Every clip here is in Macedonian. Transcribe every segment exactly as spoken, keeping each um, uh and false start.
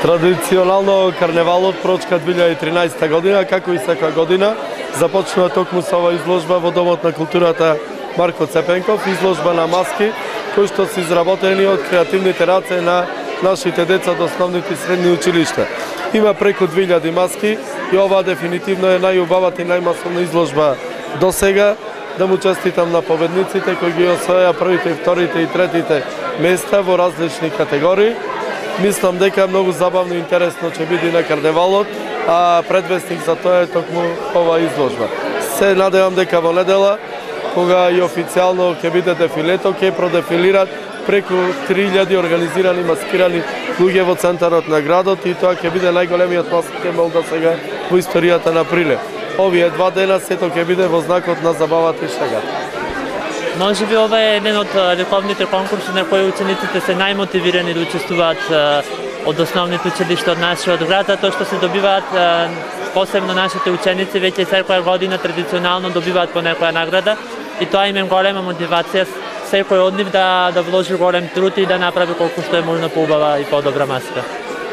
Традиционално карневалот прочка две илјади и тринаесетта година, како и секоја година, започнува токму со ова изложба во Домот на културата Марко Цепенков, изложба на маски, кои што се изработени од креативните раце на нашите деца од основните и средни училишта. Има преку две илјади маски и ова дефинитивно е најубавата и најмасовна изложба до сега. Да му честитам на победниците кои ги освоја првите, вторите и третите места во различни категории. Мислам дека е многу забавно и интересно ќе биде на карневалот, а предвестник за тоа е токму ова изложба. Се надевам дека во недела, кога и официјално ќе биде дефилето, ќе продефилират преку три илјади организирани маскирани луѓе во центарот на градот и тоа ќе биде најголемиот маскиран мол до сега во историјата на Прилеп. Овие два дена сето ќе биде во знакот на забавата и шегата. Може би ова е еден од вековните конкурси на кои учениците се најмотивирани да учествуваат од основните училишта од нашиот град, тоа што се добиваат посебно нашите ученици веќе секоја година традиционално добиваат по некоја награда и тоа им е голема мотивација секој од нив да да вложи голем труд и да направи колку што е можно поубава и подобра маска.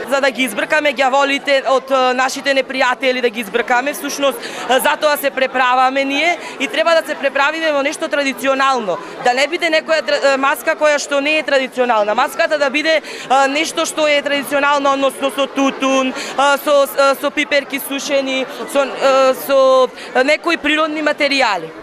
За да ги избркаме ѓаволите од нашите непријатели, да ги избркаме, всушност затоа се преправаме ние и треба да се преправиме во нешто традиционално. Да не биде некоја маска која што не е традиционална. Маската да биде нешто што е традиционално, односно со тутун, со со пиперки сушени, со со некои природни материјали.